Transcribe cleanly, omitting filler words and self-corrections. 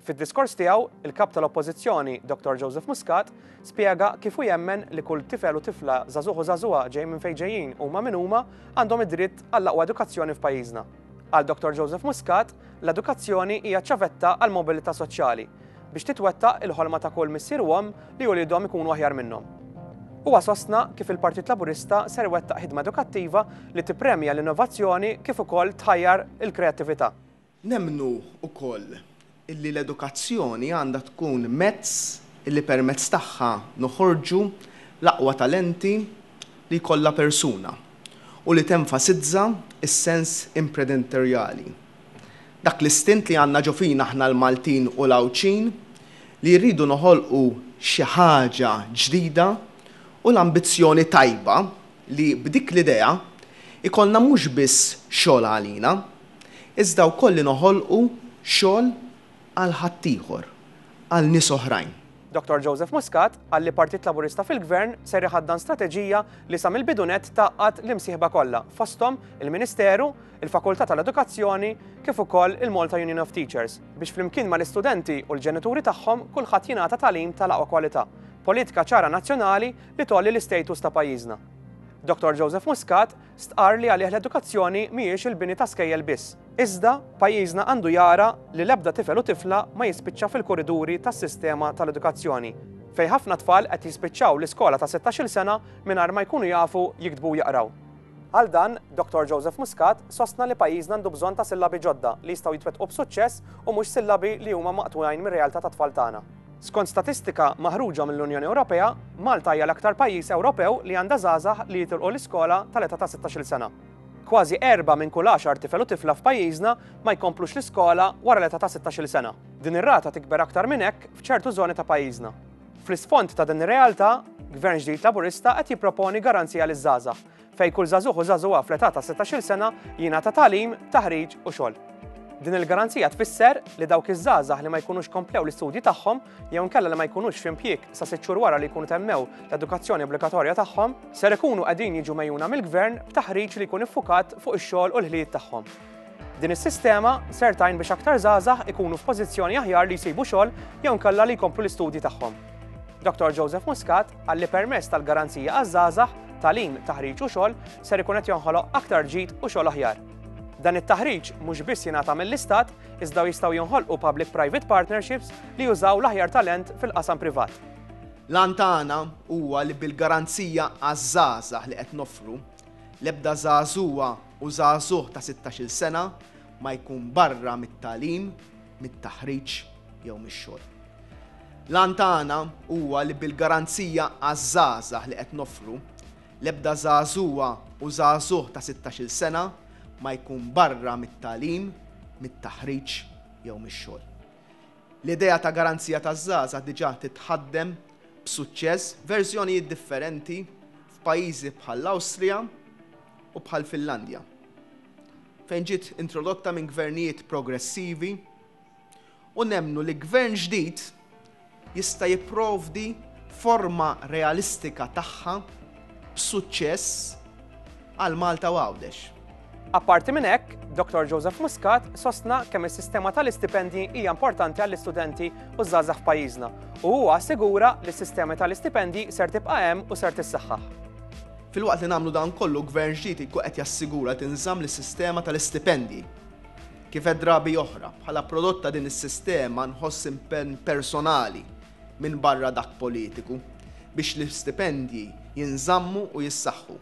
Fid-diskors tiegħu, il-Kap tal-Oppożizzjoni, Dottor Joseph Muscat, spjega kif hu jemmen li kull tifel u tifla, żagħżugħ u żagħżugħa ġej minn fejn ġejjin huma min huma, għandhom id-dritt għall-aqwa edukazzjoni f'pajjiżna. Għal Dottor Joseph Muscat, l-edukazzjoni hija ċ-ċavetta għall-mobilità soċjali, biex titwettaq il-ħolma ta' kull missier u omm li uliedhom ikunu aħjar minnhom. Huwa sostna kif il-Partit Laburista ser iwettaq ħidma edukattiva li tippremja l-innovazzjoni kif ukoll tħajjar il-kreattività. Nemmnu wkoll illi l-edukazzjoni għandha tkun mezz illi permezz tagħha noħorġu l-aqwa talenti li jkollha persuna u li tenfasizza s-sens imprenditorjali. Dak l-istint li għandna ġo fina aħna l-Maltin u l-Għawdxin li rridu noħolqu xi ħaġa ġdida u l-ambizzjoni tajba li b'dik l-idea jkollna mhux biss xogħol għalina, iżda wkoll li noħolqu xogħol għal ħaddieħor, għal nies oħrajn. Dottor Joseph Muscat qal li Partit Laburista fil-Gvern ser iħaddan strateġija li sa mill-bidu nett tgħaqqad l-imsieħba kollha, fosthom il-Ministeru, il-Fakultà tal-Edukazzjoni kif ukoll il-Malta Union of Teachers, biex flimkien mal-istudenti u l-ġenituri tagħhom kulħadd jingħata tagħlim tal-aqwa kwalità, politika ċara nazzjonali li tgħolli l-istatus ta' pajjiżna. Dottor Joseph Muscat stqarr li għalih l-edukazzjoni mhijiex il-bini ta' skejjel biss, iżda pajjiżna għandu jara li l-ebda tifel u tifla ma jispiċċa fil-kuriduri tas-sistema tal-edukazzjoni, fejn ħafna tfal qed jispiċċaw l-iskola ta' sittax-il sena mingħajr ma jkunu jafu jiktbu u jaqraw. Għal dan, Dottor Joseph Muscat sostna li pajjiżna għandu bżonn ta' sillabi ġodda li jistgħu jitwettqu b'suċċess u mhux sillabi li huma maqtugħin mir-realtà tat-tfal tagħna. Skont statistika maħruġa mill-Unjoni Ewropea, Malta hija l-aktar pajjiż Ewropew li għandha żgħażagħ li jitilqu l-iskola tal-età ta' sittax-il sena. Kważi erbgħa minn kull għaxar tifel u tifla f'pajjiżna ma jkomplux l-iskola wara l-età ta' sittax-il sena. Din ir-rata tikber aktar minn hekk f'ċertu żoni ta' pajjiżna. Fl-isfond ta' din ir-realtà, Gvern ġdid Laburista qed jipproponi garanzija liż-żgħażagħ, fejn kull żagħżugħ u żagħżugħa fl-età ta' sittax-il sena jingħata tagħlim, taħriġ u xogħol. Din il-garanzija tfisser li dawk iż-żgħażagħ li ma jkunux komplew l-istudji tagħhom jew inkella li ma jkunux f'impjieg sa sitt xhur wara li jkunu temmew l-edukazzjoni obbligatorja tagħhom, ser ikunu qegħdin jiġu megħjuna mill-Gvern b'taħriġ li jkun iffukat fuq ix-xogħol u l-ħiliet tagħhom. Din is-sistema ser tgħin biex aktar żgħażagħ ikunu f'pożizzjoni aħjar li jsibu xogħol jew inkella li jkomplu l-istudji tagħhom. Dottor Joseph Muscat qal li permezz tal-garanzija għaż-żgħażagħ, tagħlim, taħriġ u xogħol ser ikun qed jonħoloq aktar ġid u xogħol aħjar. Dan it-taħriġ mhux biss jingħata mill-Istat iżda jistgħu jinħolqu public-private partnerships li jużaw l-aħjar talent fil-qasam privat. L-għan tagħna huwa li bil-garanzija għaż-żgħażagħ li qed noffru, l-ebda żagħżugħa u żagħżugħ ta' sittax-il sena ma jkun barra mit-tagħlim, mit-taħriġ jew mix-xogħol. L-għan tagħna huwa li bil-garanzija għaż-żgħażagħ li qed noffru, l-ebda żagħżugħa u żagħżugħ ta' sittax-il sena ma jkun barra mit-tagħlim, mit-taħriġ jew mix-xogħol. L-idea ta' garanzija taż-żgħażagħ diġà titħaddem b'suċċess f'verżjonijiet differenti f'pajjiżi bħall-Awstrija u bħall-Finlandja, fejn ġiet introdotta minn gvernijiet progressivi u nemmnu li gvern ġdid jista' jipprovdi forma realistika tagħha b'suċċess għal Malta u Għawdex. Apparti minn hekk, Dottor Joseph Muscat sostna kemm is-sistema tal-istipendji hija importanti għall-istudenti u ż-żgħażagħ f'pajjiżna u huwa assigura li s-sistema tal-istipendji ser tibqa' hemm u ser tissaħħaħ. Filwaqt li nagħmlu dan kollu, gvern ġdid jkun qed jassigura li tinżamm lis-sistema tal-istipendji. Kif għedt drabi oħra, bħala prodott ta' din is-sistema nħoss impenn personali, minbarra dak politiku, biex l-istipendji jinżammu u jissaħħu.